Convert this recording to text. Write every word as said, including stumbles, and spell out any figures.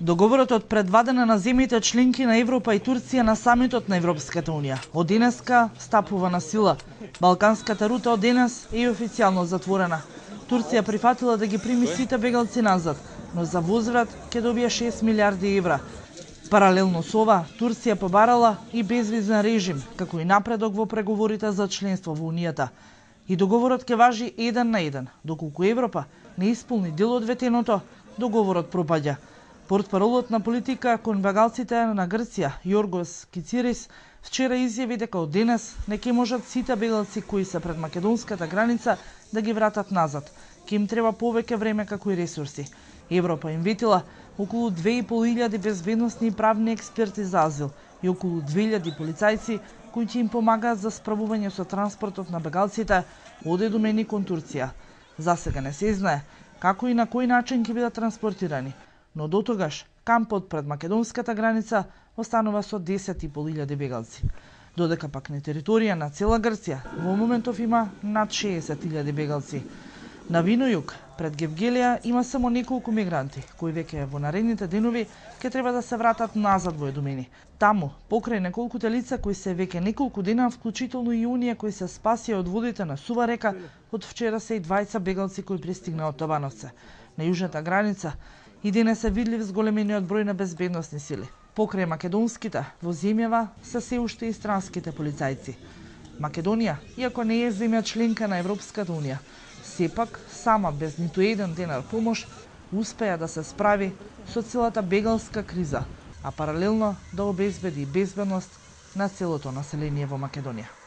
Договорот од предвадена на земјите членки на Европа и Турција на самитот на Европската Унија од денеска стапува на сила. Балканската рута од денес е официјално затворена. Турција прифатила да ги прими сите бегалци назад, но за возврат ќе добие шест милиарди евра. Паралелно со ова, Турција побарала и безвизен режим, како и напредок во преговорите за членство во Унијата. И договорот ќе важи еден на еден, доколку Европа не исполни дел од ветеното, договорот пропаѓа. Портпаролот на политика кон бегалците на Грција, Јоргос Кицирис, вчера изјави дека од денес не ќе можат сите бегалци кои се пред македонската граница да ги вратат назад. Ке им треба повеќе време како и ресурси. Европа им ветила околу две и пол илјади безбедносни и правни експерти за азил и околу две илјади полицајци кои ќе им помагаат за справување со транспортот на бегалците од и домени кон Турција. За сега не се знае како и на кој начин ќе бидат транспортирани, но дотогаш кампот пред македонската граница останува со десет и пол илјади бегалци. Додека пак на територија на цела Грција во моментов има над шеесет илјади бегалци. На Винојуг, пред Гевгелија, има само неколку мигранти, кои веќе во наредните денови ќе треба да се вратат назад во Едомени. Таму, покрај неколкуте лица кои се веќе неколку дена, вклучително и оние кои се спасија од водите на Сува река, од вчера се и двајца бегалци кои пристигнаа од Табановце. На јужната граница и денес е видлив зголемениот број на безбедносни сили. Покрај македонските, во земјава се се уште и странските полицајци. Македонија, иако не е земја членка на Европската Унија, сепак, сама без ниту еден денар помош, успеа да се справи со целата бегалска криза, а паралелно да обезбеди безбедност на целото население во Македонија.